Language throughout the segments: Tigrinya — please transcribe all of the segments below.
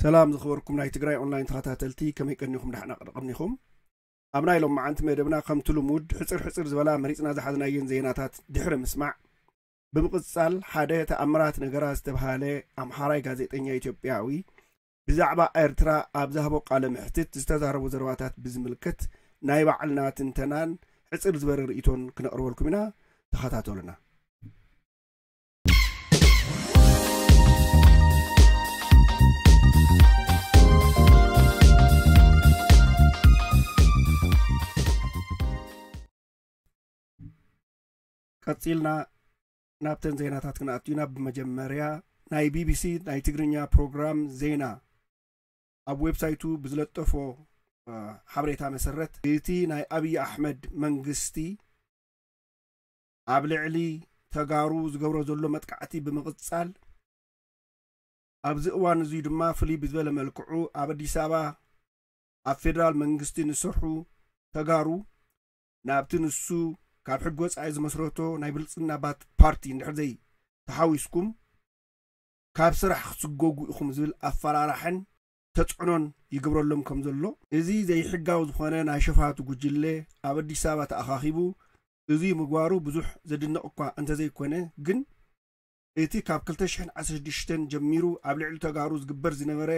ሰላም ዝኸበርኩም ናይ ትግራይ ኦንላይን ተኸታተልቲ፣ ከመይ ቀኒኹም? ዳሕና ቀኒኹም? ኣብ ናይ ሎማዓንቲ መደብና ከምቲ ልሙድ ሕፅር ሕፅር ዝበላ መሪፅና ዝሓዝናየን ዜናታት ድሕሪ ምስማዕ፣ ብምቕፃል ሓደ ተኣምራት ነገራ ዝተብሃለ ኣምሓራይ ጋዜጠኛ ኢትዮጵያዊ ብዛዕባ ኤርትራ ኣብ ዝሃቦ ቃለ መሕትት ዝተዛረቦ ዘረባታት ብዝምልከት ናይ ባዕልና ትንተናን ሕፅር ዝበለ ርእይቶን ክነቕርበልኩም ኢና። ተኸታተሉና። ቀጺልና ናብተን ዜናታት ክንኣቱ ኢና። ብመጀመርያ ናይ ቢቢሲ ናይ ትግርኛ ፕሮግራም ዜና ኣብ ዌብሳይቱ ብዝለጠፎ ሓበሬታ መሰረት፣ እቲ ናይ ኣብይ ኣሕመድ መንግስቲ ኣብ ልዕሊ ተጋሩ ዝገብሮ ዘሎ መጥቃዕቲ ብምቕጻል፣ ኣብዚ እዋን እዙይ ድማ ፍልይ ብዝበለ መልክዑ ኣብ ኣዲስ ኣበባ ኣብ ፌደራል መንግስቲ ንሰርሑ ተጋሩ ናብቲ ንሱ ካብ ሕጊ ወፃኢ ዝመስረቶ ናይ ብልፅግና ፓርቲ እንድሕር ዘይ ተሓዊስኩም ካብ ስራሕ ክትስጎጉ ኢኹም ዝብል ኣፈራራሕን ተፅዕኖን ይግብረሎም ከም ዘሎ፣ እዚ ዘይሕጋዊ ዝኾነ ናይ ሸፋቱ ጉጅለ ኣብ ኣዲስ ኣበባ ተኣኻኺቡ እዚ ምግባሩ ብዙሕ ዘድንቕ እኳ እንተዘይኮነ፣ ግን እቲ ካብ ክልተ ሽሕን ዓሰርተ ሽዱሽተን ጀሚሩ ኣብ ልዕሊ ተጋሩ ዝግበር ዝነበረ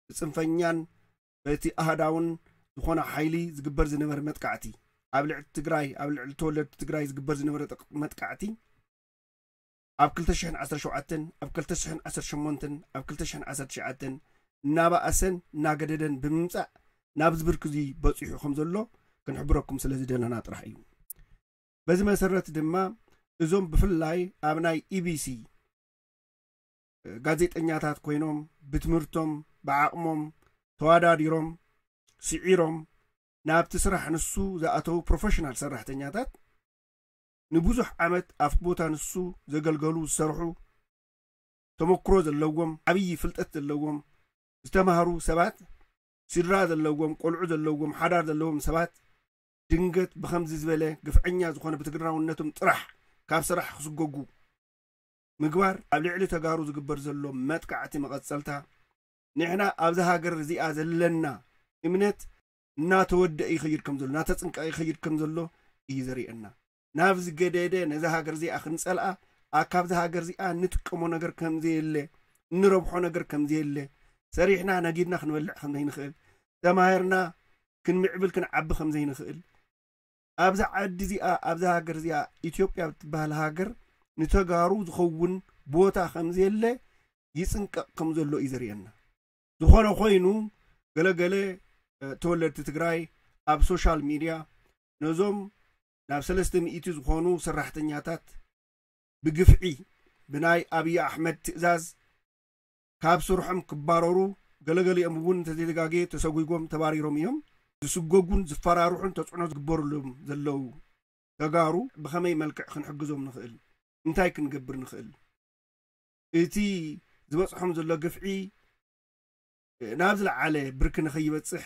ብፅንፈኛን በቲ ኣህዳውን ዝኾነ ሓይሊ ዝግበር ዝነበረ መጥቃዕቲ፣ ኣብ ልዕሊ ትግራይ፣ ኣብ ልዕሊ ተወለድቲ ትግራይ ዝግበር ዝነበረ መጥቃዕቲ፣ ኣብ ክልተ ሽሕን ዓሰርተ ሸውዓተን፣ ኣብ ክልተ ሽሕን ዓሰርተ ሸሞንተን፣ ኣብ ክልተ ሽሕን ዓሰርተ ትሽዓተን እናባኣሰን እናገደደን ብምምፃእ ናብዚ ብርኪ እዚ በፂሑ ከም ዘሎ ክንሕብረኩም ስለ ዝደለና ጥራሕ እዩ። በዚ መሰረት ድማ እዞም ብፍላይ ኣብ ናይ ኢቢሲ ጋዜጠኛታት ኮይኖም ብትምህርቶም ብዓቕሞም ተዋዳዲሮም ስዒሮም ናብቲ ስራሕ ንሱ ዝኣተዉ ፕሮፌሽናል ሰራሕተኛታት ንብዙሕ ዓመት ኣብቲ ቦታ ንሱ ዘገልገሉ ዝሰርሑ ተመክሮ ዘለዎም ዓብዪ ፍልጠት ዘለዎም ዝተማህሩ ሰባት ስድራ ዘለዎም ቆልዑ ዘለዎም ሓዳር ዘለዎም ሰባት ድንገት ብኸምዚ ዝበለ ግፍዐኛ ዝኾነ ብትግራውነቶም ጥራሕ ካብ ስራሕ ክስጎጉ ምግባር ኣብ ልዕሊ ተጋሩ ዝግበር ዘሎ መጥቃዕቲ መቐፀልታ ንሕና ኣብዚ ሃገር እዚኣ ዘለና እምነት እናተወደአ ይኸይድ ከም ዘሎ እናተፅንቀቐ ይኸይድ ከም ዘሎ እዩ ዘርእየና። ናብ ዝገደደ ነዛ ሃገር እዚኣ ክንፀልኣ ኣ ካብዛ ሃገር እዚኣ ንጥቀሞ ነገር ከም ዘየለ እንረብሖ ነገር ከም ዘየለ ሰሪሕና ነጊድና ክንበልዕ ከም ዘይንኽእል ተማሂርና ክንምዕብል ክንዓቢ ከም ዘይንኽእል ኣብዛ ዓዲ እዚኣ ኣብዛ ሃገር እዚኣ ኢትዮጵያ ብትበሃል ሃገር ንተጋሩ ዝኸውን ቦታ ከም ዘየለ ይፅንቀቕ ከም ዘሎ እዩ ዘርእየና። ዝኾነ ኮይኑ ገለገለ ተወለድቲ ትግራይ ኣብ ሶሻል ሚድያ ነዞም ናብ ሰለስተ ሚእቲ ዝኾኑ ሰራሕተኛታት ብግፍዒ ብናይ ኣብይ ኣሕመድ ትእዛዝ ካብ ስርሖም ክባረሩ ገለገሊኦም እውን እንተዘይተጋግየ ተሰጒጎም ተባሪሮም እዮም። ዝስጎጉን ዝፈራርሑን ተፅዕኖ ዝግበሩሎም ዘለዉ ተጋሩ ብኸመይ መልክዕ ክንሕግዞም ንኽእል? እንታይ ክንገብር ንኽእል? እቲ ዝበፅሖም ዘሎ ግፍዒ ናብ ዝለዓለ ብርኪ ንኸይበፅሕ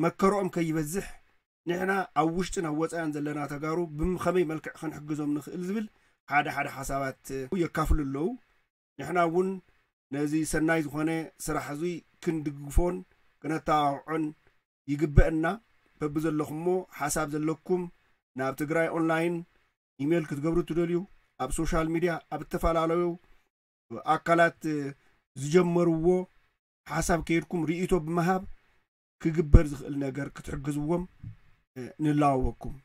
መከርኦም ከይበዝሕ ንሕና ኣብ ውሽጥን ኣብ ወፃእን ዘለና ተጋሩ ብኸመይ መልክዕ ክንሕግዞም ንኽእል ዝብል ሓደ ሓደ ሓሳባት የካፍሉ ኣለዉ። ንሕና እውን ነዚ ሰናይ ዝኾነ ስራሕ እዚ ክንድግፎን ክነተባብዖን ይግበአና። በብዘለኹሞ ሓሳብ ዘለኩም ናብ ትግራይ ኦንላይን ኢሜይል ክትገብሩ ትደልዩ ኣብ ሶሻል ሚድያ ኣብ እተፈላለዩ ኣካላት ዝጀመርዎ ሓሳብ ከይድኩም ርእይቶ ብምሃብ ክግበር ዝኽእል ነገር ክትሕግዝዎም ንላወኩም።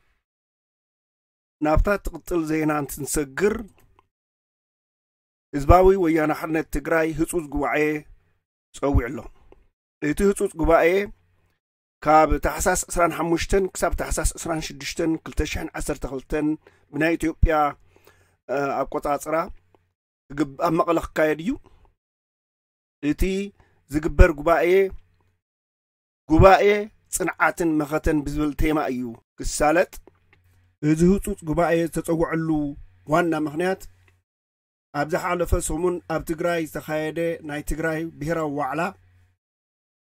ናብታ ትቕፅል ዜና እንትንሰግር ህዝባዊ ወያነ ሓርነት ትግራይ ህፁፅ ጉባኤ ፀዊዑ ኣሎ። እቲ ህፁፅ ጉባኤ ካብ ታሕሳስ ዕስራን ሓሙሽተን ክሳብ ታሕሳስ ዕስራን ሽዱሽተን ክልተ ሽሕን ዓሰርተ ክልተን ብናይ ኢትዮጵያ ኣቆፃፅራ ኣብ መቐለ ክካየድ እዩ። እቲ ዝግበር ጉባኤ ጉባኤ ፅንዓትን መኸተን ብዝብል ቴማ እዩ ክሳለጥ። እዚ ህፁፅ ጉባኤ ዝተፀወዐሉ ዋና ምኽንያት ኣብ ዝሓለፈ ሰሙን ኣብ ትግራይ ዝተኻየደ ናይ ትግራይ ብሄራዊ ዋዕላ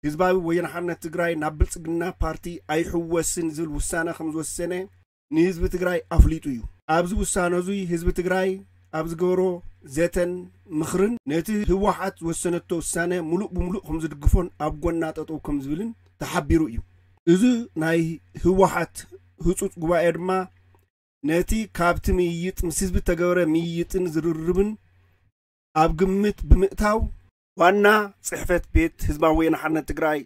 ህዝባዊ ወያነ ሓርነት ትግራይ ናብ ብልፅግና ፓርቲ ኣይሕወስን ዝብል ውሳነ ከም ዝወሰነ ንህዝቢ ትግራይ ኣፍሊጡ እዩ። ኣብዚ ውሳነ እዙይ ህዝቢ ትግራይ ኣብ ዝገበሮ ዘተን ምኽርን ነቲ ህወሓት ዝወሰነቶ ውሳነ ሙሉእ ብሙሉእ ከም ዝድግፎን ኣብ ጎና ጠጠው ከም ዝብልን ተሓቢሩ እዩ። እዚ ናይ ህወሓት ህፁፅ ጉባኤ ድማ ነቲ ካብቲ ምይይጥ ምስ ህዝቢ ተገበረ ምይይጥን ዝርርብን ኣብ ግምት ብምእታው ዋና ጽሕፈት ቤት ህዝባዊ ወያነ ሓርነት ትግራይ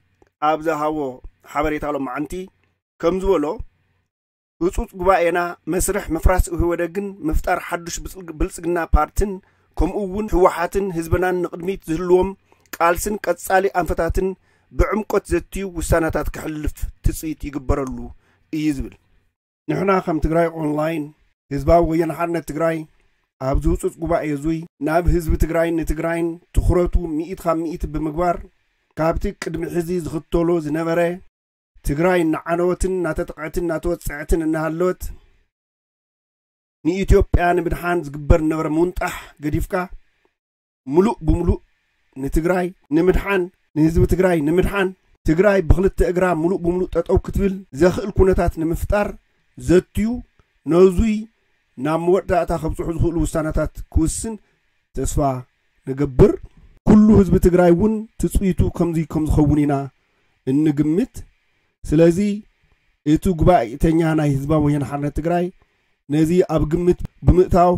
ኣብ ዝሃቦ ሓበሬታ ሎማዓንቲ ከም ዝበሎ ህፁፅ ጉባኤና መስርሕ ምፍራስ ኢህወደግን ምፍጣር ሓዱሽ ብልጽግና ፓርትን ከምኡ እውን ህወሓትን ህዝብናን ንቕድሚት ዝህልዎም ቃልስን ቀጻሊ ኣንፈታትን ብዕምቆት ዘትዩ ውሳነታት ክሕልፍ ትፅቢት ይግበረሉ እዩ ዝብል። ንሕና ከም ትግራይ ኦንላይን ህዝባዊ ወያነ ሓርነት ትግራይ ኣብዚ ህፁፅ ጉባኤ እዙይ ናብ ህዝቢ ትግራይን ንትግራይን ትኹረቱ ሚኢት ካብ ሚኢት ብምግባር ካብቲ ቅድሚ ሕዚ ዝኽተሎ ዝነበረ ትግራይ እናዓነወትን እናተጠቕዐትን እናተወፀዐትን እናሃለወት ንኢትዮጵያ ንምድሓን ዝግበር ዝነበረ ምውንጣሕ ገዲፍካ ሙሉእ ብሙሉእ ንትግራይ ንምድሓን ንህዝቢ ትግራይ ንምድሓን ትግራይ ብክልተ እግራ ሙሉእ ብሙሉእ ጠጠው ክትብል ዘኽእል ኩነታት ንምፍጣር ዘትዩ ነዙይ ናብ መወዳእታ ከብፅሑ ዝኽእሉ ውሳነታት ክውስን ተስፋ ንገብር። ኩሉ ህዝቢ ትግራይ እውን ትፅቢቱ ከምዚ ከም ዝኸውን ኢና እንግምት። ስለዚ እቲ ጉባኤተኛ ናይ ህዝባዊ ወያነ ሓርነት ትግራይ ነዚ ኣብ ግምት ብምእታው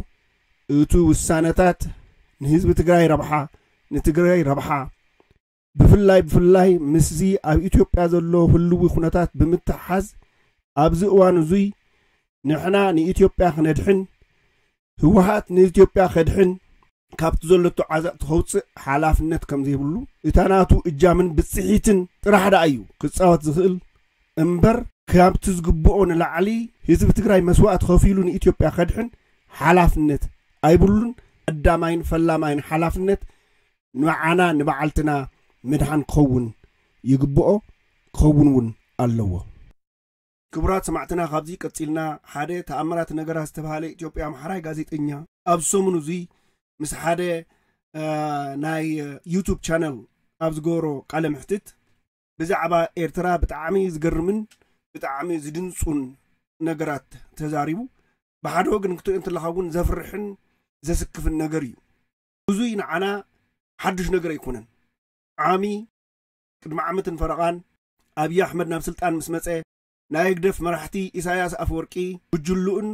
እቲ ውሳነታት ንህዝቢ ትግራይ ረብሓ ንትግራይ ረብሓ ብፍላይ ብፍላይ ምስዚ ኣብ ኢትዮጵያ ዘሎ ህልዊ ኩነታት ብምትሓዝ ኣብዚ እዋን እዙይ ንሕና ንኢትዮጵያ ክነድሕን ህወሓት ንኢትዮጵያ ከድሕን ካብቲ ዘለቶ ዓዘቕቲ ከውፅእ ሓላፍነት ከም ዘይብሉ እታ ናቱ እጃምን ብፅሒትን ጥራሕ ደኣ እዩ ክፃወት ዝኽእል እምበር ካብቲ ዝግብኦ ንላዕሊ ህዝቢ ትግራይ መስዋእቲ ከፊሉ ንኢትዮጵያ ከድሕን ሓላፍነት ኣይብሉን። ቀዳማይን ፈላማይን ሓላፍነት ንዓና ንበዓልትና ምድሓን ክኸውን ይግብኦ ክኸውን እውን ኣለዎ። ክቡራት ሰማዕትና ካብዚ ቀፂልና ሓደ ተኣምራት ነገራት ዝተባሃለ ኢትዮጵያ ኣምሓራይ ጋዜጠኛ ኣብ ሰሙኑ እዙይ ምስ ሓደ ናይ ዩቱብ ቻነል ኣብ ዝገበሮ ቃለ ምሕትት ብዛዕባ ኤርትራ ብጣዕሚ ዝገርምን ብጣዕሚ ዝድንፁን ነገራት ተዛሪቡ። ብሓደ ወገን ክትሪኦ እንተለኻ እውን ዘፍርሕን ዘስክፍን ነገር እዩ። ብዙይ ንዓና ሓዱሽ ነገር ኣይኮነን። ዓሚ ቅድሚ ዓመትን ፈረቓን ኣብዪ ኣሕመድ ናብ ስልጣን ምስ መጸ ናይ ህግደፍ መራሕቲ ኢሳያስ ኣፈወርቂ ጉጅልኡን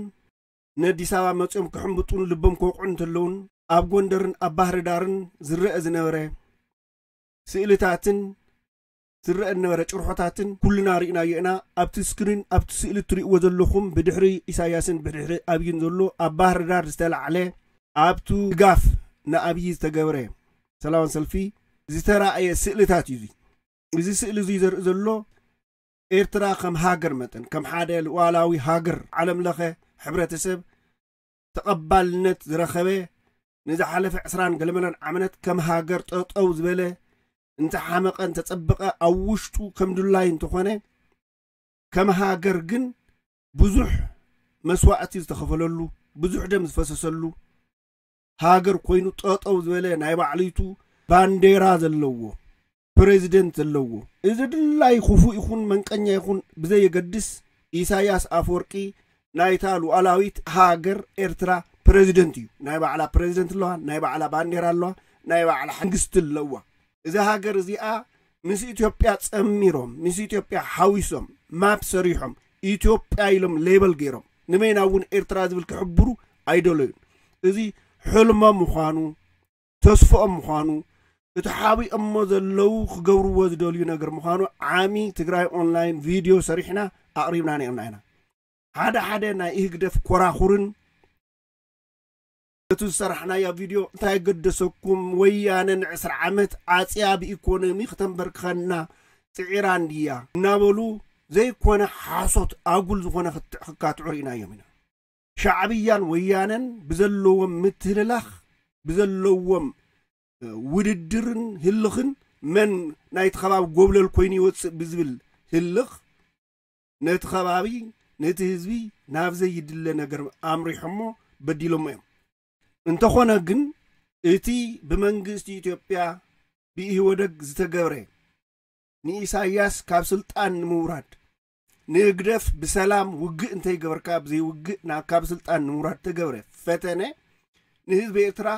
ንኣዲስ ኣበባ መጺኦም ክሕምብጡን ልቦም ክወቕዑ እንተለውን ኣብ ጎንደርን ኣብ ባህሪ ዳርን ዝረአ ዝነበረ ስእልታትን ዝረአ ዝነበረ ጭርሖታትን ኩልና ርኢናዮ ኢና። ኣብቲ ስክሪን ኣብቲ ስእሊ እትርእይዎ ዘለኹም ብድሕሪ ኢሳያስን ብድሕሪ ኣብይን ዘሎ ኣብ ባህሪ ዳር ዝተላዕለ ኣብቱ ድጋፍ ንኣብይ ዝተገብረ ሰላማዊ ሰልፊ ዝተራእየ ስእልታት እዩ። እዚ ስእሊ እዚ ዘርኢ ዘሎ ኤርትራ ከም ሃገር መጠን ከም ሓደ ሉዓላዊ ሃገር ዓለም ለኸ ሕብረተሰብ ተቐባልነት ዝረኸበ ንዝሓለፈ ዕስራን ገለመለን ዓመታት ከም ሃገር ጠጠው ዝበለ እንተሓመቐ እንተጸበቐ ኣብ ውሽጡ ከም ድላይ እንተኾነ ከም ሃገር ግን ብዙሕ መስዋእቲ ዝተኸፈለሉ ብዙሕ ደም ዝፈሰሰሉ ሃገር ኮይኑ ጠጠው ዝበለ ናይ ባዕሊቱ ባንዴራ ዘለዎ ፕሬዚደንት ዘለዎ እዚ ድላይ ክፉእ ይኹን መንቀኛ ይኹን ብዘየገድስ ኢሳያስ ኣፈወርቂ ናይታ ሉዓላዊት ሃገር ኤርትራ ፕሬዚደንት እዩ። ናይ ባዕላ ፕሬዚደንት ኣለዋ፣ ናይ ባዕላ ባንዴራ ኣለዋ፣ ናይ ባዕላ መንግስቲ ኣለዋ። እዛ ሃገር እዚኣ ምስ ኢትዮጵያ ጸሚሮም ምስ ኢትዮጵያ ሓዊሶም ማፕ ሰሪሖም ኢትዮጵያ ኢሎም ሌበል ገይሮም ንመይና እውን ኤርትራ ዝብል ክሕብሩ ኣይደለዩን። እዚ ሕልሞም ምዃኑ ተስፍኦም ምዃኑ እቲ ሓቢኦሞ ዘለዉ ክገብርዎ ዝደልዩ ነገር ምዃኑ ዓሚ ትግራይ ኦንላይን ቪድዮ ሰሪሕና ኣቕሪብና ነርና ኢና። ሓደ ሓደ ናይ ኢህግደፍ ኮራኹርን እቲ ዝሰራሕናዮ ቪድዮ እንታይ ገደሰኩም ወያነ ንዕስራ ዓመት ዓፅያ ብኢኮኖሚ ክተንበርክኸና ፅዒራ እንድያ እናበሉ ዘይኮነ ሓሶት ኣጉል ዝኾነ ክካትዑ ርኢናዮም ኢና። ሻዕብያን ወያነን ብዘለዎም ምትህልላኽ ብዘለዎም ውድድርን ህልኽን መን ናይቲ ከባቢ ጎብለል ኮይኑ ይወፅእ ብዝብል ህልኽ ነቲ ከባቢ ነቲ ህዝቢ ናብ ዘይድለ ነገር ኣምሪሖሞ በዲሎሞ እዮም። እንተኾነ ግን እቲ ብመንግስቲ ኢትዮጵያ ብኢህወደግ ዝተገብረ ንኢሳያስ ካብ ስልጣን ንምውራድ ንህግደፍ ብሰላም ውግእ እንተይገበርካ ብዘይውግእ ናብ ካብ ስልጣን ንምውራድ ተገብረ ፈተነ ንህዝቢ ኤርትራ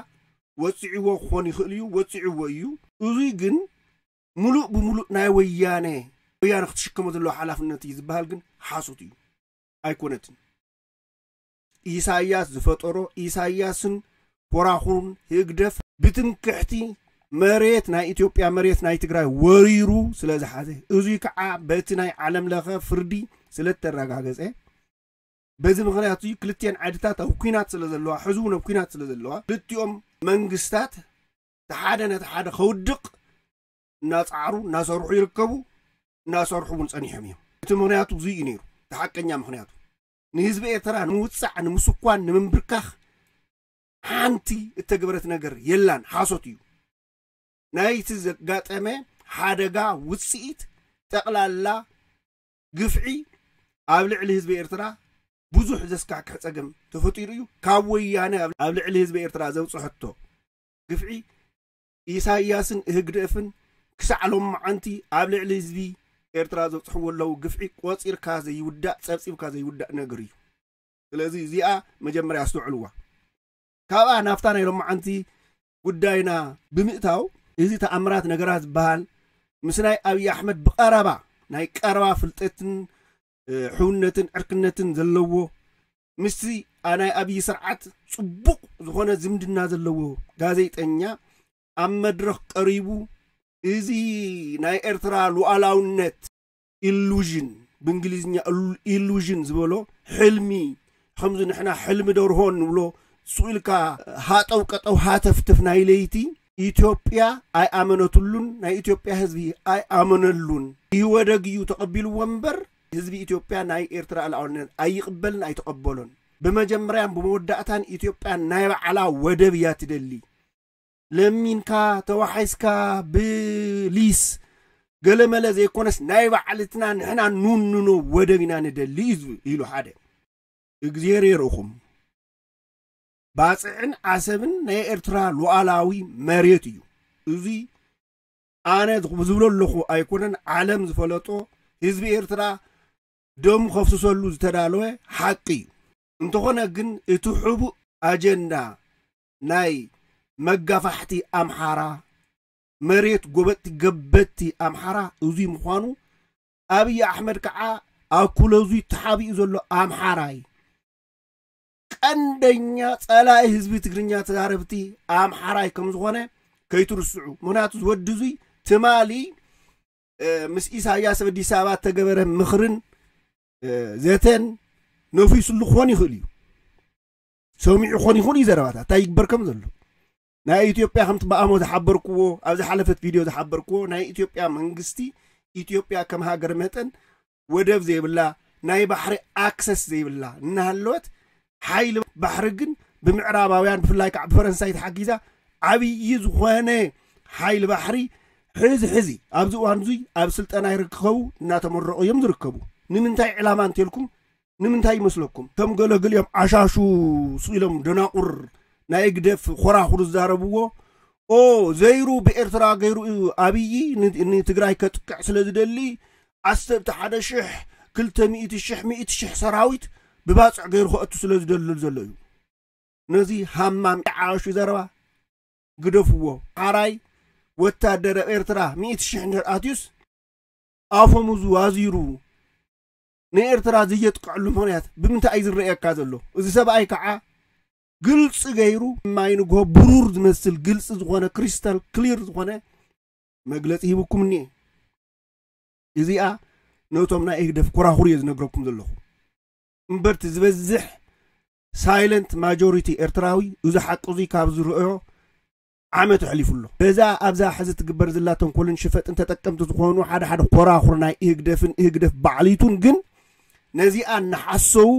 ወጺዕዎ ክኾን ይኽእል እዩ፣ ወጺዕዎ እዩ። እዙይ ግን ምሉእ ብምሉእ ናይ ወያነ፣ ወያነ ክትሽከሞ ዘለዎ ሓላፍነት እዩ ዝበሃል ግን ሓሶት እዩ፣ ኣይኮነትን። ኢሳያስ ዝፈጠሮ፣ ኢሳያስን ኮራኹሩን ህግደፍ ብትምክሕቲ መሬት ናይ ኢትዮጵያ፣ መሬት ናይ ትግራይ ወሪሩ ስለ ዝሓዘ፣ እዙይ ከዓ በቲ ናይ ዓለም ለኸ ፍርዲ ስለ እተረጋገጸ፣ በዚ ምኽንያት እዩ ክልቲኤን ዓድታት ኣብ ኲናት ስለ ዘለዋ፣ ሕዚ እውን ኣብ ኲናት ስለ ዘለዋ፣ ክልቲኦም መንግስታት እቲ ሓደ ነቲ ሓደ ከውድቕ እናጻዕሩ እናሰርሑ ይርከቡ፣ እናሰርሑ እውን ጸኒሖም እዮም። እቲ ምኽንያቱ እዙይ እዩ ነይሩ፣ እቲ ሓቀኛ ምኽንያቱ። ንህዝቢ ኤርትራ ንምውጻዕ፣ ንምስኳን፣ ንምንብርካኽ ሓንቲ እተገበረት ነገር የላን፣ ሓሶት እዩ። ናይቲ ዘጋጠመ ሓደጋ ውጽኢት ጠቕላላ ግፍዒ ኣብ ልዕሊ ህዝቢ ኤርትራ ብዙሕ ዘስካሕክሕ ጸገም ተፈጢሩ እዩ። ካብ ወያነ ኣብ፣ ኣብ ልዕሊ ህዝቢ ኤርትራ ዘብጽሐቶ ግፍዒ ኢሳያስን ህግደፍን ክሳዕ ሎማዓንቲ ኣብ ልዕሊ ህዝቢ ኤርትራ ዘብጽሕዎ ኣለዉ ግፍዒ ቆጺርካ ዘይውዳእ፣ ጸብጺብካ ዘይውዳእ ነገር እዩ። ስለዚ እዚኣ መጀመርያ ኣስተውዕልዋ። ካብኣ ናብታ ናይ ሎማዓንቲ ጉዳይና ብምእታው፣ እዚ ተኣምራት ነገራት ዝበሃል ምስ ናይ ኣብዪ ኣሕመድ ብቐረባ፣ ናይ ቀረባ ፍልጠትን፣ እ፣ ሕውነትን ዕርክነትን ዘለዎ፣ ምስቲ፣ ኣ፣ ናይ ኣብዪ ስርዓት ጽቡቕ ዝኾነ ዝምድና ዘለዎ ጋዜጠኛ ኣብ መድረኽ ቀሪቡ፣ እዚ ናይ ኤርትራ ሉዓላውነት ኢሉዥን፣ ብእንግሊዝኛ ኢሉ-፣ ኢሉዥን ዝበሎ፣ ሕልሚ፣ ከምዚ ንሕና ሕልሚ ደርሆ ንብሎ፣ ስኡ ኢልካ ሃጠው ቀጠው ሃተፍትፍ ናይ ለይቲ፣ ኢትዮጵያ ኣይኣመነትሉን፣ ናይ ኢትዮጵያ ህዝቢ ኣይኣመነሉን። ኢህወደግ እዩ ተቐቢልዎ እምበር፣ ህዝቢ ኢትዮጵያ ናይ ኤርትራ ሉዓላውነት ኣይቕበልን ኣይተቐበሎን። ብመጀመርያን ብመወዳእታን ኢትዮጵያ ናይ ባዕላ ወደብ እያ ትደሊ። ለሚንካ፣ ተዋሒስካ፣ ብሊስ፣ ገለመለ ዘይኮነስ ናይ ባዕልትና ንሕና ንውንኖ ወደብ ኢና ንደሊ እዩ ዝብል ኢሉ ሓደ። እግዜር የርእኹም። ባጽዕን ዓሰብን ናይ ኤርትራ ሉዓላዊ መሬት እዩ። እዚ ኣነ ዝኽ-፣ ዝብሎ ኣለኹ ኣይኮነን፣ ዓለም ዝፈለጦ፣ ህዝቢ ኤርትራ ደሙ ከፍስሰሉ ዝተዳለወ ሓቂ እዩ። እንተኾነ ግን እቲ ሕቡእ ኣጀንዳ ናይ መጋፋሕቲ ኣምሓራ፣ መሬት ጎበጥቲ ገበቲ ኣምሓራ እዙይ ምዃኑ፣ ኣብይ ኣሕመድ ከዓ ኣኩለዙ ተሓቢኡ ዘሎ ኣምሓራይ፣ ቀንደኛ ጸላኢ ህዝቢ ትግርኛ ተዛረብቲ ኣምሓራይ ከም ዝኾነ ከይትርስዑ። ምኽንያቱ ዝወዲ እዙይ ትማሊ፣ እ፣ ምስ ኢሳያስ ኣብ ኣዲስ ኣበባ እተገበረ ምኽርን፣ እ፣ ዘተን ነፊሱሉ ክኾን ይኽእል እዩ። ሰሚዑ ክኾን ይኽእል እዩ ዘረባታት እንታይ ይግበር ከም ዘሎ። ናይ ኢትዮጵያ ከምቲ ብኣሞ ዝሓበርክዎ፣ ኣብ ዝሓለፈት ቪድዮ ዝሓበርክዎ፣ ናይ ኢትዮጵያ መንግስቲ፣ ኢትዮጵያ ከም ሃገር መጠን ወደብ ዘይብላ፣ ናይ ባሕሪ ኣክሰስ ዘይብላ እናሃለወት፣ ሓይሊ ባሕሪ ግን ብምዕራባውያን፣ ብፍላይ ከዓ ብፈረንሳይ ተሓጊዛ፣ ዓብዪ ዝኾነ ሓይሊ ባሕሪ ሕዚ፣ ሕዚ ኣብዚ እዋን እዙይ ኣብ ስልጠና ይርከቡ፣ እናተመረቑ እዮም ዝርከቡ። ንምንታይ ዕላማ እንተልኩም፣ ንምንታይ ይመስለኩም? ከም ገለ ገሊኦም ዓሻሹ ስኢሎም ደናቁር ናይ ህግደፍ ኮራኹር ዝዛረብዎ፣ ኦ፣ ዘይሩ ብኤርትራ ገይሩ እዩ ኣብዪ ን-፣ ንትግራይ ከጥቅዕ ስለ ዝደሊ፣ ዓሰርተ ሓደ ሽሕ፣ ክልተ ሚእቲ ሽሕ፣ ሚእቲ ሽሕ ሰራዊት ብባጽዕ ገይሩ ከእቱ ስለ ዝደልል ዘሎ እዩ። ነዚ ሃማም ዓሻሹ ዘረባ ግደፍዎ። ሓራይ ወታደር ኣብ ኤርትራ ሚእቲ ሽሕ እንድሕር ኣትዩስ፣ ኣፈሙዙ ኣዚሩ ንኤርትራ ዘየጥቅዐሉ ምኽንያት ብምንታይ እዩ ዝረኣየካ ዘሎ? እዚ ሰብኣይ ከዓ ግልፂ ገይሩ፣ ማይ ንግሆ ብሩር ዝመስል ግልፂ ዝኾነ፣ ክሪስታል ክሊር ዝኾነ መግለፂ ሂብኩም እኒኤ። እዚኣ ነቶም ናይ ህግደፍ ኮራኹር እየ ዝነግረኩም ዘለኹ። እምበርቲ ዝበዝሕ ሳይለንት ማጆሪቲ ኤርትራዊ እዚ ሓቂ እዙይ ካብ ዝርእዮ ዓመት ኣሕሊፉ ኣሎ። በዛ ኣብዛ ሕዚ ትግበር ዘላ ተንኮልን ሽፈጥን ተጠቀምቲ ዝኾኑ ሓደ ሓደ ኮራኹር ናይ ኢህግደፍን ኢህግደፍ ባዕሊቱን ግን ነዚኣ እናሓሰዉ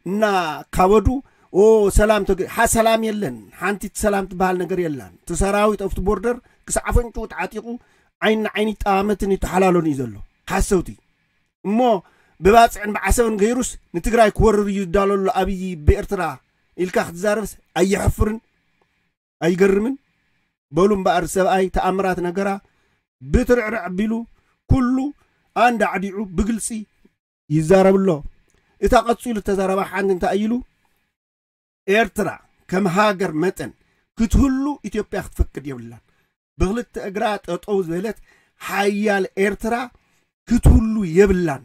እናካበዱ፣ ኦ፣ ሰላም ተገ-፣ ሓ-፣ ሰላም የለን፣ ሓንቲ ሰላም ትበሃል ነገር የላን። እቲ ሰራዊት ኣብቲ ቦርደር ክሳዕ ኣፍንጭኡ ተዓጢቑ ዓይኒ ንዓይኒ ይጠማመትን ይተሓላሎን እዩ ዘሎ። ሓሰውቲ። እሞ ብባፅዕን ብዓሰብን ገይሩስ ንትግራይ ክወርር እዩ ዝዳሎ ኣሎ ኣብይ ብኤርትራ ኢልካ ክትዛረብስ ኣየሕፍርን? ኣይገርምን? በሉ እምበኣር ሰብኣይ ተኣምራት ነገራ ብትርዕርዕ ኣቢሉ ኩሉ ኣንዳዕዲዑ ብግልፂ ይዛረብ ኣሎ። እታ ቀፂሉ እተዛረባ ሓንቲ እንታይ ኢሉ? ኤርትራ ከም ሃገር መጠን ክትህሉ ኢትዮጵያ ክትፈቅድ የብላን። ብክልተ እግራ ጠጠው ዝበለት ሓያል ኤርትራ ክትህሉ የብላን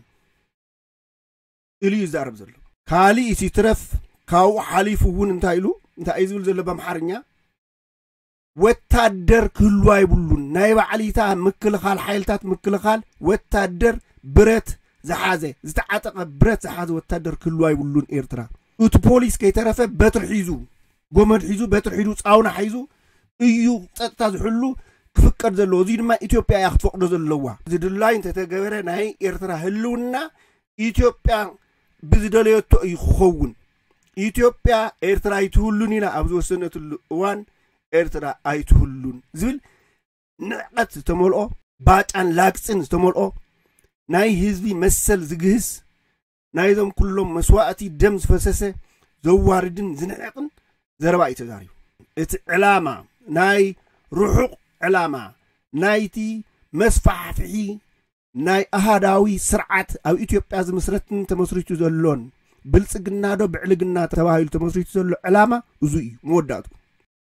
ኢሉ ይዛረብ ዘሎ። ካሊእ ሲትረፍ ካብኡ ሓሊፉ እውን እንታይ ኢሉ እንታይ እዩ ዝብል ዘሎ ብኣምሓርኛ? ወታደር ክህሉ ኣይብሉን። ናይ ባዕሊታ ምክልኻል፣ ሓይልታት ምክልኻል፣ ወታደር፣ ብረት ዝሓዘ፣ ዝተዓጠቐ፣ ብረት ዝሓዘ ወታደር ክህሉ ኣይብሉን ኤርትራ። እቲ ፖሊስ ከይተረፈ በትሪ ሒዙ፣ ጎመድ ሒዙ፣ በትሪ ሒዙ፣ ጻውና ሒዙ እዩ ጸጥታ ዝሕሉ ክፍቀድ ዘለዎ። እዚ ድማ ኢትዮጵያ እያ ክትፈቅዶ ዘለዋ። ዝድላይ እንተተገበረ ናይ ኤርትራ ህልውና ኢትዮጵያ ብዝደለየቶ እዩ ክኸውን። ኢትዮጵያ ኤርትራ ኣይትህሉን ኢና ኣብ ዝወሰነትሉ እዋን ኤርትራ ኣይትህሉን ዝብል ንዕቀት ዝተመልኦ፣ ባጫን ላግጽን ዝተመልኦ፣ ናይ ህዝቢ መሰል ዝግህስ፣ ናይዞም ኩሎም መስዋእቲ ደም ዝፈሰሰ ዘዋርድን ዝንዕቕን ዘረባ እዩ ተዛሪቡ። እቲ ዕላማ ናይ ርሑቕ ዕላማ ናይቲ መስፋሕፍሒ ናይ ኣሃዳዊ ስርዓት ኣብ ኢትዮጵያ ዝምስረትን ተመስሪቱ ዘሎን ብልጽግና ዶ ብዕልግና ተባሂሉ ተመስሪቱ ዘሎ ዕላማ እዙ እዩ መወዳእቱ።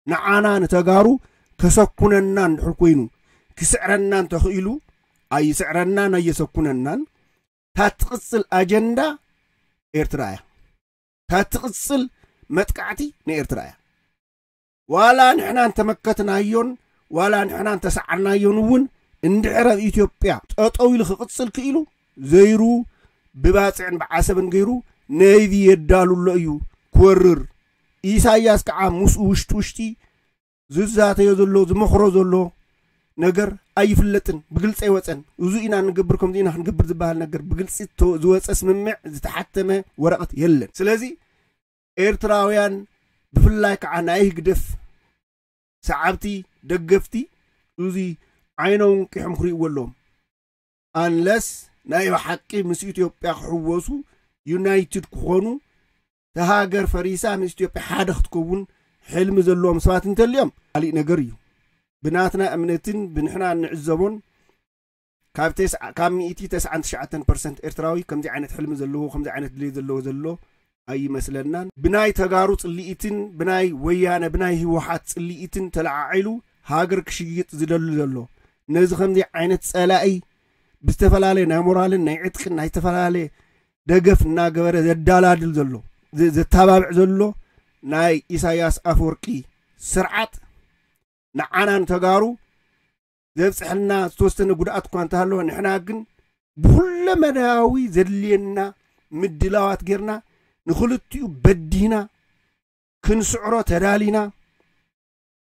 ንዓና ንተጋሩ ከሰኩነና እንድሕር ኮይኑ ክስዕረና እንተኽኢሉ ኣይስዕረናን ኣየሰኩነናን። ታትቕጽል ኣጀንዳ ኤርትራ እያ። ታትቕጽል መጥቃዕቲ ንኤርትራ እያ። ዋላ ንሕና እንተመከትናዮን ዋላ ንሕና እንተሰዓርናዮን እውን እንድሕር ኣብ ኢትዮጵያ ጠጠው ኢሉ ክቕጽል ክኢሉ ዘይሩ ብባጽዕን ብዓሰብን ገይሩ ነይቪ የዳሉ ኣሎ እዩ ክወርር። ኢሳያስ ከዓ ምስኡ ውሽጢ ውሽጢ ዝዛተዮ ዘሎ ዝመኽሮ ዘሎ ነገር ኣይፍለጥን፣ ብግልፂ ኣይወፀን። እዚ ኢና ንገብር ከምዚ ኢና ክንገብር ዝበሃል ነገር ብግልፂ ዝወፀ ስምምዕ ዝተሓተመ ወረቐት የለን። ስለዚ ኤርትራውያን ብፍላይ ከዓ ናይ ህግደፍ ሰዓብቲ ደገፍቲ እዚ ዓይኖም ቂሖም ክርእይዎ ኣለዎም። ኣንለስ ናይ ብሓቂ ምስ ኢትዮጵያ ክሕወሱ ዩናይትድ ክኾኑ ተሃገር ፈሪሳ ምስ ኢትዮጵያ ሓደ ክትከውን ሕልሚ ዘለዎም ሰባት እንተልዮም ካሊእ ነገር እዩ። ብናትና እምነትን ብንሕና እንዕዘቦን ካብ ተስዓ ካብ ሚእቲ ተስዓን ትሽዓተን ፐርሰንት ኤርትራዊ ከምዚ ዓይነት ሕልሚ ዘለዎ ከምዚ ዓይነት ድሌት ዘለዎ ዘሎ ኣይመስለናን። ብናይ ተጋሩ ጽልኢትን ብናይ ወያነ ብናይ ህወሓት ጽልኢትን ተለዓዒሉ ሃገር ክሽይጥ ዝደሊ ዘሎ ነዚ ከምዚ ዓይነት ጸላኢ ብዝተፈላለየ ናይ ሞራልን ናይ ዕጥቅን ናይ ዝተፈላለየ ደገፍ እናገበረ ዘዳላድል ዘሎ ዘተባብዕ ዘሎ ናይ ኢሳያስ ኣፈወርቂ ስርዓት ንዓና ንተጋሩ ዘብፅሐልና ዝተወሰነ ጉድኣት እኳ እንተሃለወ ንሕና ግን ብኩለመዳያዊ ዘድልየና ምድላዋት ጌርና ንክልቲኡ በዲህና ክንስዕሮ ተዳሊና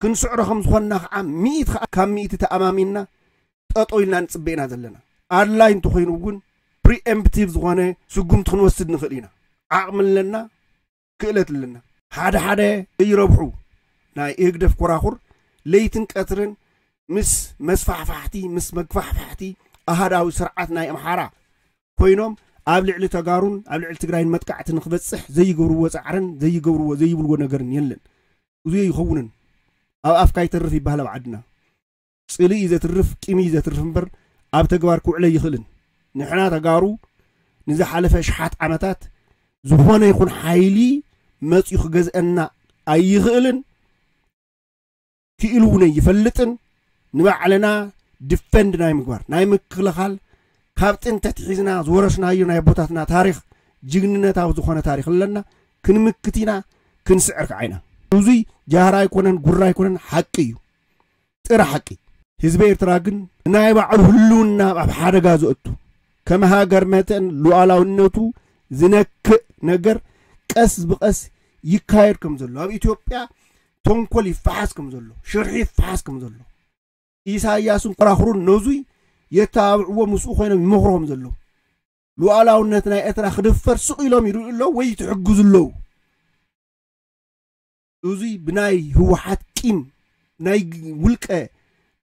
ክንስዕሮ ከም ዝኾንና ከዓ ሚእቲ ከዓ ካብ ሚእቲ ተኣማሚንና ጠጠው ኢልና ንፅበ ኢና ዘለና። ኣድላይ እንተኮይኑ እውን ፕሪኤምፕቲቭ ዝኾነ ስጉምቲ ክንወስድ ንኽእል ኢና። ዓቕሚ ኣለና፣ ክእለት ኣለና። ሓደ ሓደ ዘይረብሑ ናይ ህግደፍ ኮራኹር ለይትን ቀትርን ምስ መስፋሕፋሕቲ ምስ መግፋሕፋሕቲ ኣሃዳዊ ስርዓት ናይ ኣምሓራ ኮይኖም ኣብ ልዕሊ ተጋሩን ኣብ ልዕሊ ትግራይን መጥቃዕቲ ንክበፅሕ ዘይገብርዎ ፃዕርን ዘይገብርዎ ዘይብልዎ ነገርን የለን። እዚ ይኸውንን ኣብ ኣፍካ ይተርፍ ይበሃል ኣብ ዓድና። ፅልኢ እዩ ዘትርፍ፣ ቂም እዩ ዘትርፍ እምበር ኣብ ተግባር ክውዕለ ይኽእልን። ንሕና ተጋሩ ንዝሓለፈ ሽሓት ዓመታት ዝኾነ ይኹን ሓይሊ መፅዩ ክገዝአና ኣይኽእልን፣ ክኢሉ እውን ኣይፈልጥን። ንባዕልና ድፈንድ ናይ ምግባር ናይ ምክልኻል ካብ ጥንቲ ኣትሒዝና ዝወረስናዮ ናይ ኣቦታትና ታሪኽ ጅግንነታዊ ዝኾነ ታሪኽ ኣለና። ክንምክት ኢና፣ ክንስዕር ከዓ ኢና። እዙይ ጃህራ ኣይኮነን፣ ጉራ ኣይኮነን፣ ሓቂ እዩ። ጥረ ሓቂ። ህዝቢ ኤርትራ ግን ናይ ባዕሉ ህልውና ኣብ ሓደጋ ዘእቱ ከም ሃገር መጠን ሉዓላውነቱ ዝነክእ ነገር ቀስ ብቐስ ይካየድ ከም ዘሎ ኣብ ኢትዮጵያ ተንኮል ይፈሓስ ከም ዘሎ ሽርሒ ይፈሓስ ከም ዘሎ ኢሳያስን ኮራኽሩን ነዙይ የተባብዕዎ ምስኡ ኮይኖም ይመኽሮም ዘለዉ ሉዓላውነት ናይ ኤርትራ ክድፈር ስቕ ኢሎም ይርእዩ ኣለዉ ወይ ትሕግዙ ኣለዉ። እዙይ ብናይ ህወሓት ቂም ናይ ውልቀ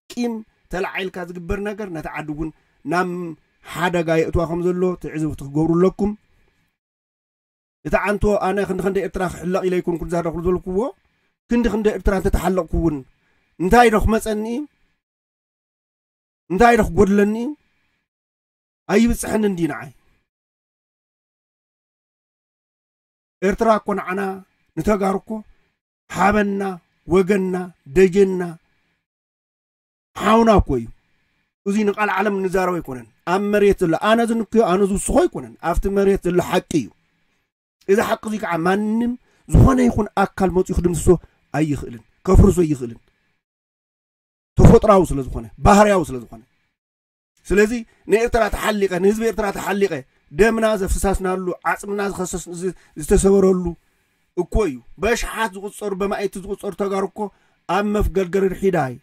ቂም ተላዒልካ ዝግበር ነገር ነቲ ዓዲ እውን ናብ ሓደጋ የእትዋ ከም ዘሎ ትዕዝብቲ ክገብሩ ኣለኩም። እቲ ዓንቶ ኣነ ክንዲ ክንደ ኤርትራ ክሕለቕ ኢለ ይኮንኩ ዝዛረብኩ ዘለኩዎ ክንዲ ክንደ ኤርትራ እንተተሓለቕኩ እውን እንታይ ዶ ክመፀኒ እዩ እንታይ ዶ ክጎድለኒ እዩ ኣይብፅሐኒ እንዲ ንዓይ ኤርትራ እኮ ንዓና ንተጋሩ እኮ ሓበንና ወገንና፣ ደጀንና፣ ሓውና እኮ እዩ። እዚ ንቃል ዓለም እንዛረቦ ኣይኮነን። ኣብ መሬት ዘሎ፣ ኣነ ዝንክዮ፣ ኣነ ዝውስኾ ኣይኮነን። ኣብቲ መሬት ዘሎ ሓቂ እዩ። እዚ ሓቂ እዚ ከዓ ማንም ዝኾነ ይኹን ኣካል መፂኡ ክድምስሶ ኣይኽእልን፣ ከፍርሶ ኣይኽእልን። ተፈጥራዊ ስለ ዝኾነ፣ ባህርያዊ ስለ ዝኾነ። ስለዚ ንኤርትራ ተሓሊቐ፣ ንህዝቢ ኤርትራ ተሓሊቐ፣ ደምና ዘፍሳስናሉ፣ ዓጽምና ዝኸሰስ-፣ ዝ-፣ ዝተሰበረሉ እኮ እዩ። በሽሓት ዝቑጸሩ፣ በማእቲ ዝቑጸሩ ተጋሩ እኮ ኣብ መፍገልገል ርሒዳይ፣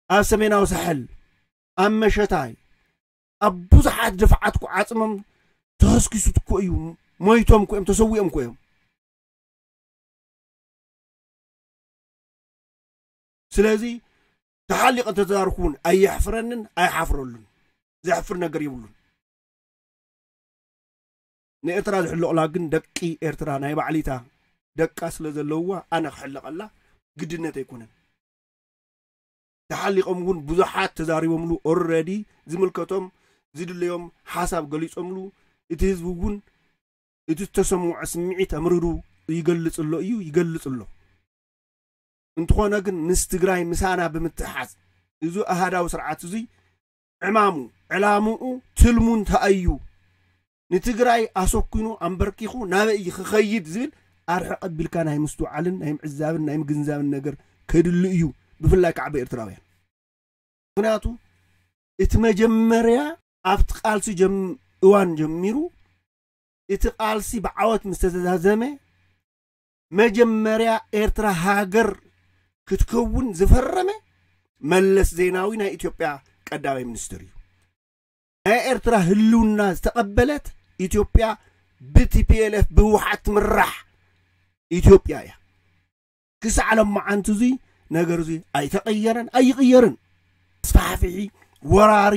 ኣብ ሰሜናዊ ሳሕል፣ ኣብ መሸታይ፣ ኣብ ብዙሓት ድፍዓት እኮ ዓጽሞም ተኸስኪሱት እኮ እዩ። ሞይቶም እኮ እዮም፣ ተሰዊኦም እኮ እዮም። ስለዚ ተሓሊቐ እንተተዛርኩ እውን ኣየሕፍረንን ኣይሓፍረሉን። ዘሕፍር ነገር የብሉን። ንኤርትራ ዝሕልቕላ ግን ደቂ ኤርትራ ናይ ባዕሊታ ደቃ ስለ ዘለውዋ ኣነ ክሕልቐላ ግድነት ኣይኮነን። ተሓሊቖም እውን ብዙሓት ተዛሪቦምሉ፣ ኦረዲ ዝምልከቶም ዝድለዮም ሓሳብ ገሊጾምሉ፣ እቲ ህዝቢ እውን እቲ ዝተሰምዖ ስምዒት ኣምርሩ ይገልጽ ኣሎ እዩ፣ ይገልጽ ኣሎ። እንተኾነ ግን ምስ ትግራይ ምሳና ብምትሓዝ እዚ ኣሃዳዊ ስርዓት እዚ ዕማሙ፣ ዕላምኡ፣ ትልሙ እንታይ እዩ? ንትግራይ ኣሰኪኑ ኣንበርኪኹ ናበይ እዩ ክኸይድ ዝብል ኣርሕቕ ኣቢልካ ናይ ምስትውዓልን ናይ ምዕዛብን ናይ ምግንዛብን ነገር ከድሊ እዩ፣ ብፍላይ ከዓ ብኤርትራውያን። ምኽንያቱ እቲ መጀመርያ ኣብቲ ቃልሲ ጀም-፣ እዋን ጀሚሩ እቲ ቃልሲ ብዓወት ምስ ተዛዘመ መጀመርያ ኤርትራ ሃገር ክትከውን ዝፈረመ መለስ ዜናዊ ናይ ኢትዮጵያ ቀዳማይ ሚኒስትር እዩ። ናይ ኤርትራ ህልውና ዝተቐበለት ኢትዮጵያ ብቲ ፒ ኤል ኤፍ ብህወሓት ትምራሕ ኢትዮጵያ እያ። ክሳዕ ሎማዓንቲ እዚ ነገር እዚ ኣይተቐየረን ኣይቕየርን። ኣስፋሕፊሒ፣ ወራሪ፣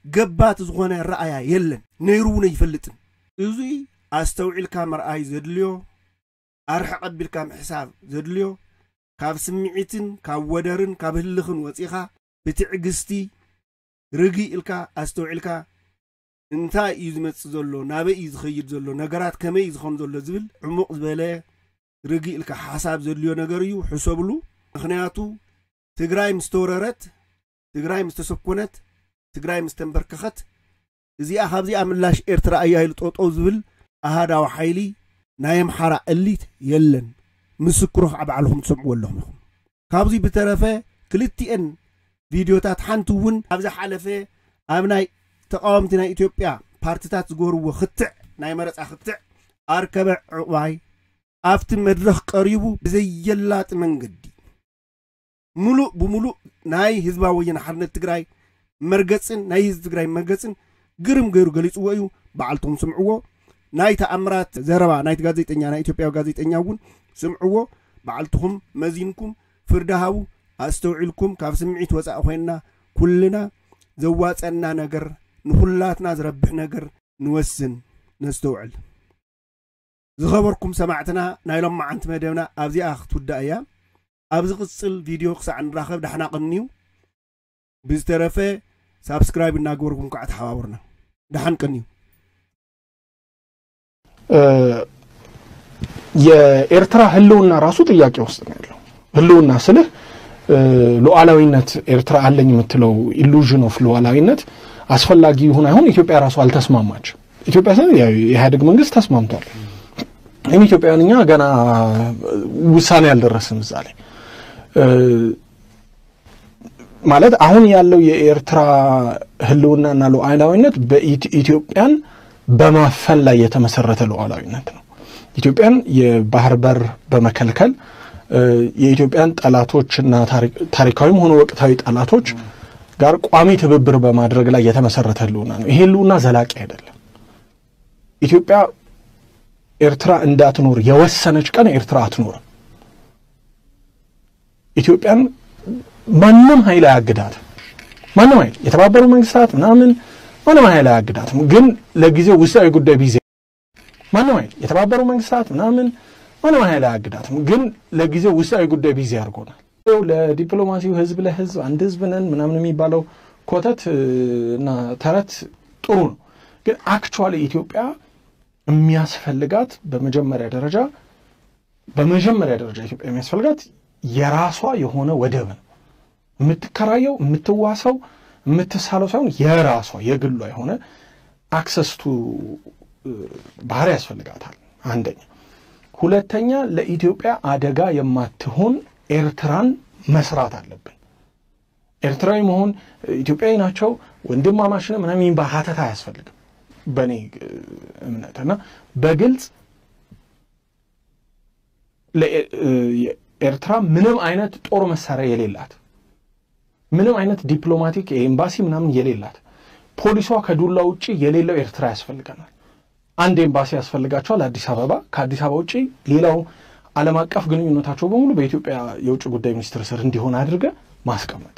ገባቲ ዝኾነ ረኣያ የለን፣ ነይሩ እውን ኣይፈልጥን። እዚ ኣስተውዒልካ ምርኣይ ዘድልዮ፣ ኣርሕቕ ኣቢልካ ምሕሳብ ዘድልዮ፣ ካብ ስምዒትን ካብ ወደርን ካብ ህልኽን ወፂኻ ብትዕግስቲ ርግእ ኢልካ ኣስተውዒልካ እንታይ እዩ ዝመጽእ ዘሎ፣ ናበይ እዩ ዝኸይድ ዘሎ፣ ነገራት ከመይ እዩ ዝኾን ዘሎ ዝብል ዕሙቕ ዝበለ ርግእ ኢልካ ሓሳብ ዘድልዮ ነገር እዩ። ሕሰብሉ። ምኽንያቱ ትግራይ ምስ ተወረረት፣ ትግራይ ምስ ተሰኮነት፣ ትግራይ ምስ ተንበርከኸት፣ እዚኣ ካብዚኣ ምላሽ ኤርትራ እያ ኢሉ ጠጠው ዝብል ኣሃዳዊ ሓይሊ ናይ ኣምሓራ እሊት የለን። ምስክሩ ከዓ ባዕልኹም ትሰምዕዎ ኣለኹም ኢኹም። ካብዚ ብተረፈ ክልቲኤን ቪድዮታት ሓንቲ እውን ኣብ ዝሓለፈ ኣብ ናይ ተቃወምቲ ናይ ኢትዮጵያ ፓርቲታት ዝገበርዎ ክትዕ፣ ናይ መረፃ ክትዕ ኣርከበ ዕቑባይ ኣብቲ መድረኽ ቀሪቡ ብዘየላጢ መንገዲ ሙሉእ ብሙሉእ ናይ ህዝባዊ ወያነ ሓርነት ትግራይ መርገፅን ናይ ህዝቢ ትግራይ መርገፅን ግርም ገይሩ ገሊፅዎ እዩ። ባዕልቶም ስምዕዎ። ናይ ተኣምራት ዘረባ ናይቲ ጋዜጠኛ፣ ናይ ኢትዮጵያዊ ጋዜጠኛ እውን ስምዕዎ። ባዕልትኹም መዚንኩም ፍርዲ ሃቡ። ኣስተውዒልኩም ካብ ስምዒት ወፃኢ ኮይንና ኩልና ዘዋፀና ነገር ንኩላትና ዝረብሕ ነገር ንወስን፣ ነስተውዕል። ዝኸበርኩም ሰማዕትና ናይ ሎማዓንቲ መደብና ኣብዚኣ ክትውዳእ እያ። ኣብ ዝቕጽል ቪድዮ ክሳዕ ንራኸብ ደሓና ቅንዩ። ብዝተረፈ ሳብስክራይብ እናገበርኩም ከዓ ተሓባብሩና። ደሓን ቅንዩ። የኤርትራ ህልውና ራሱ ጥያቄ ውስጥ ነው ያለው። ህልውና ስልህ ሉዓላዊነት ኤርትራ አለኝ የምትለው illusion of ሉዓላዊነት አስፈላጊ ይሁን አይሁን ኢትዮጵያ ራሱ አልተስማማችም። ኢትዮጵያ ስንል የኢህአዴግ መንግስት ተስማምቷል። ግን ኢትዮጵያውያን እኛ ገና ውሳኔ ያልደረስም እዛ ላይ ማለት አሁን ያለው የኤርትራ ህልውናና ሉዓላዊነት በኢትዮጵያን በማፈን ላይ የተመሰረተ ሉዓላዊነት ነው። ኢትዮጵያን የባህር በር በመከልከል የኢትዮጵያን ጠላቶች እና ታሪካዊም ሆነ ወቅታዊ ጠላቶች ጋር ቋሚ ትብብር በማድረግ ላይ የተመሰረተ ህልውና ነው። ይሄ ህልውና ዘላቂ አይደለም። ኢትዮጵያ ኤርትራ እንዳትኖር የወሰነች ቀን ኤርትራ አትኖርም። ኢትዮጵያን ማንም ኃይል አያግዳትም። ማንም ኃይል የተባበሩ መንግስታት ምናምን ማንም ኃይል አያግዳትም። ግን ለጊዜው ውስጣዊ ጉዳይ ቢዚ ማንም ኃይል የተባበሩ መንግስታት ምናምን ማንም ኃይል አያግዳትም። ግን ለጊዜው ውስጣዊ ጉዳይ ቢዚ አድርጎናል። ለዲፕሎማሲው ህዝብ ለህዝብ አንድ ህዝብ ነን ምናምን የሚባለው ኮተት እና ተረት ጥሩ ነው። ግን actually ኢትዮጵያ የሚያስፈልጋት በመጀመሪያ ደረጃ በመጀመሪያ ደረጃ ኢትዮጵያ የሚያስፈልጋት የራሷ የሆነ ወደብን የምትከራየው የምትዋሰው የምትሳለው ሳይሆን የራሷ የግሏ የሆነ access to ባህር ያስፈልጋታል። አንደኛ። ሁለተኛ፣ ለኢትዮጵያ አደጋ የማትሆን ኤርትራን መስራት አለብን። ኤርትራዊ መሆን፣ ኢትዮጵያዊ ናቸው፣ ወንድማማች ነው ምናምን የሚባል ሀተታ አያስፈልግም በእኔ እምነት። እና በግልጽ ለኤርትራ ምንም አይነት ጦር መሳሪያ የሌላት፣ ምንም አይነት ዲፕሎማቲክ ኤምባሲ ምናምን የሌላት፣ ፖሊሷ ከዱላ ውጪ የሌለው ኤርትራ ያስፈልገናል። አንድ ኤምባሲ ያስፈልጋቸዋል አዲስ አበባ። ከአዲስ አበባ ውጪ ሌላው ዓለም አቀፍ ግንኙነታቸው በሙሉ በኢትዮጵያ የውጭ ጉዳይ ሚኒስትር ስር እንዲሆን አድርገ ማስቀመጥ።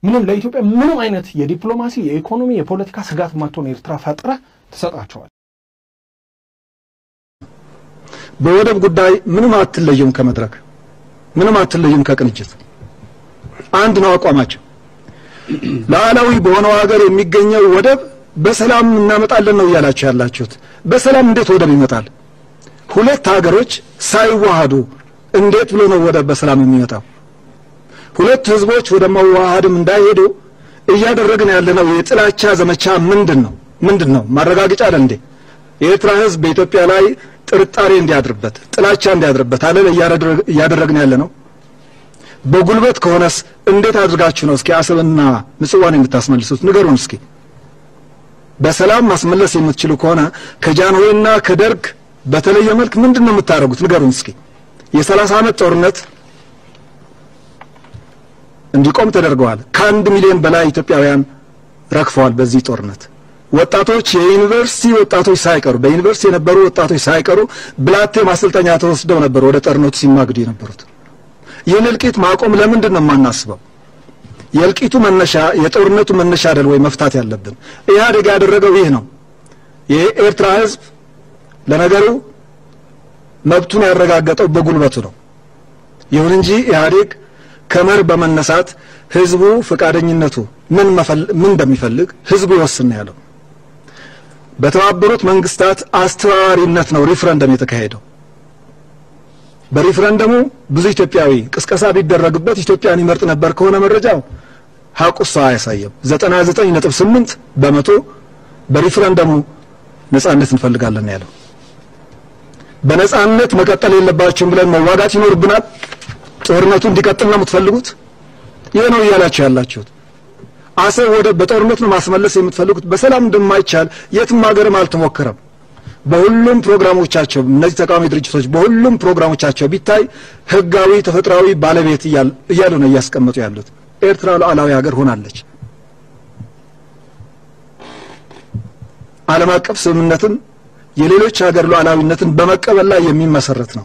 ምንም ለኢትዮጵያ ምንም አይነት የዲፕሎማሲ፣ የኢኮኖሚ፣ የፖለቲካ ስጋት ማትሆን ኤርትራ ፈጥረ ትሰጣቸዋል። በወደብ ጉዳይ ምንም አትለዩም ከመድረክ፣ ምንም አትለዩም ከቅንጅት። አንድ ነው አቋማቸው። ሉዓላዊ በሆነው ሀገር የሚገኘው ወደብ በሰላም እናመጣለን ነው እያላችሁ ያላችሁት። በሰላም እንዴት ወደብ ይመጣል? ሁለት ሀገሮች ሳይዋሃዱ እንዴት ብሎ ነው ወደብ በሰላም የሚመጣው? ሁለት ህዝቦች ወደ መዋሃድም እንዳይሄዱ እያደረግን ያለነው የጥላቻ ዘመቻ ምንድን ነው? ምንድን ነው? ማረጋገጫ አይደል እንዴ? የኤርትራ ህዝብ በኢትዮጵያ ላይ ጥርጣሬ እንዲያድርበት፣ ጥላቻ እንዲያድርበት አይደል እያደረግን ያለነው? በጉልበት ከሆነስ እንዴት አድርጋችሁ ነው እስኪ አሰብና ምጽዋን የምታስመልሱት? ንገሩን እስኪ። በሰላም ማስመለስ የምትችሉ ከሆነ ከጃንሆይና ከደርግ በተለየ መልክ ምንድን ነው የምታደርጉት? ንገሩን እስኪ። የሰላሳ ዓመት ጦርነት እንዲቆም ተደርገዋል። ከአንድ ሚሊዮን በላይ ኢትዮጵያውያን ረግፈዋል በዚህ ጦርነት። ወጣቶች፣ የዩኒቨርሲቲ ወጣቶች ሳይቀሩ፣ በዩኒቨርሲቲ የነበሩ ወጣቶች ሳይቀሩ ብላቴ ማሰልጠኛ ተወስደው ነበር ወደ ጦርነቱ ሲማግዱ የነበሩት። ይህን እልቂት ማቆም ለምንድን ነው የማናስበው? የእልቂቱ መነሻ፣ የጦርነቱ መነሻ አይደል ወይ መፍታት ያለብን? ኢህአዴግ ያደረገው ይህ ነው። የኤርትራ ህዝብ ለነገሩ መብቱን ያረጋገጠው በጉልበቱ ነው። ይሁን እንጂ ኢህአዴግ ከመርህ በመነሳት ህዝቡ ፈቃደኝነቱ ምን እንደሚፈልግ ህዝቡ ይወስን ያለው። በተባበሩት መንግስታት አስተባባሪነት ነው ሪፍረንደም የተካሄደው። በሪፍረንደሙ ብዙ ኢትዮጵያዊ ቅስቀሳ ቢደረግበት ኢትዮጵያን ይመርጥ ነበር ከሆነ መረጃው ሀቁ እሱ አያሳየም። ዘጠና ዘጠኝ ነጥብ ስምንት በመቶ በሪፍረንደሙ ነጻነት እንፈልጋለን ያለው። በነጻነት መቀጠል የለባቸውም ብለን መዋጋት ይኖርብናል። ጦርነቱ እንዲቀጥል ነው የምትፈልጉት? ይሄ ነው እያላችሁ ያላችሁት። አሰብ ወደብ በጦርነት ነው ማስመለስ የምትፈልጉት? በሰላም እንደማይቻል የትም ሀገርም አልተሞከረም። በሁሉም ፕሮግራሞቻቸው እነዚህ ተቃዋሚ ድርጅቶች በሁሉም ፕሮግራሞቻቸው ቢታይ ህጋዊ ተፈጥሯዊ ባለቤት እያሉ ነው እያስቀመጡ ያሉት። ኤርትራ ሉዓላዊ ሀገር ሆናለች። ዓለም አቀፍ ስምምነትን የሌሎች ሀገር ሉዓላዊነትን በመቀበል ላይ የሚመሰረት ነው።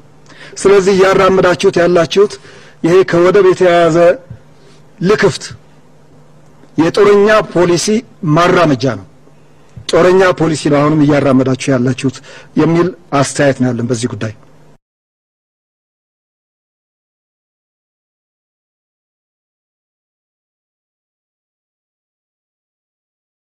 ስለዚህ እያራመዳችሁት ያላችሁት ይሄ ከወደብ የተያያዘ ልክፍት የጦረኛ ፖሊሲ ማራመጃ ነው። ጦረኛ ፖሊሲ ነው አሁንም እያራመዳችሁ ያላችሁት የሚል አስተያየት ነው ያለን በዚህ ጉዳይ።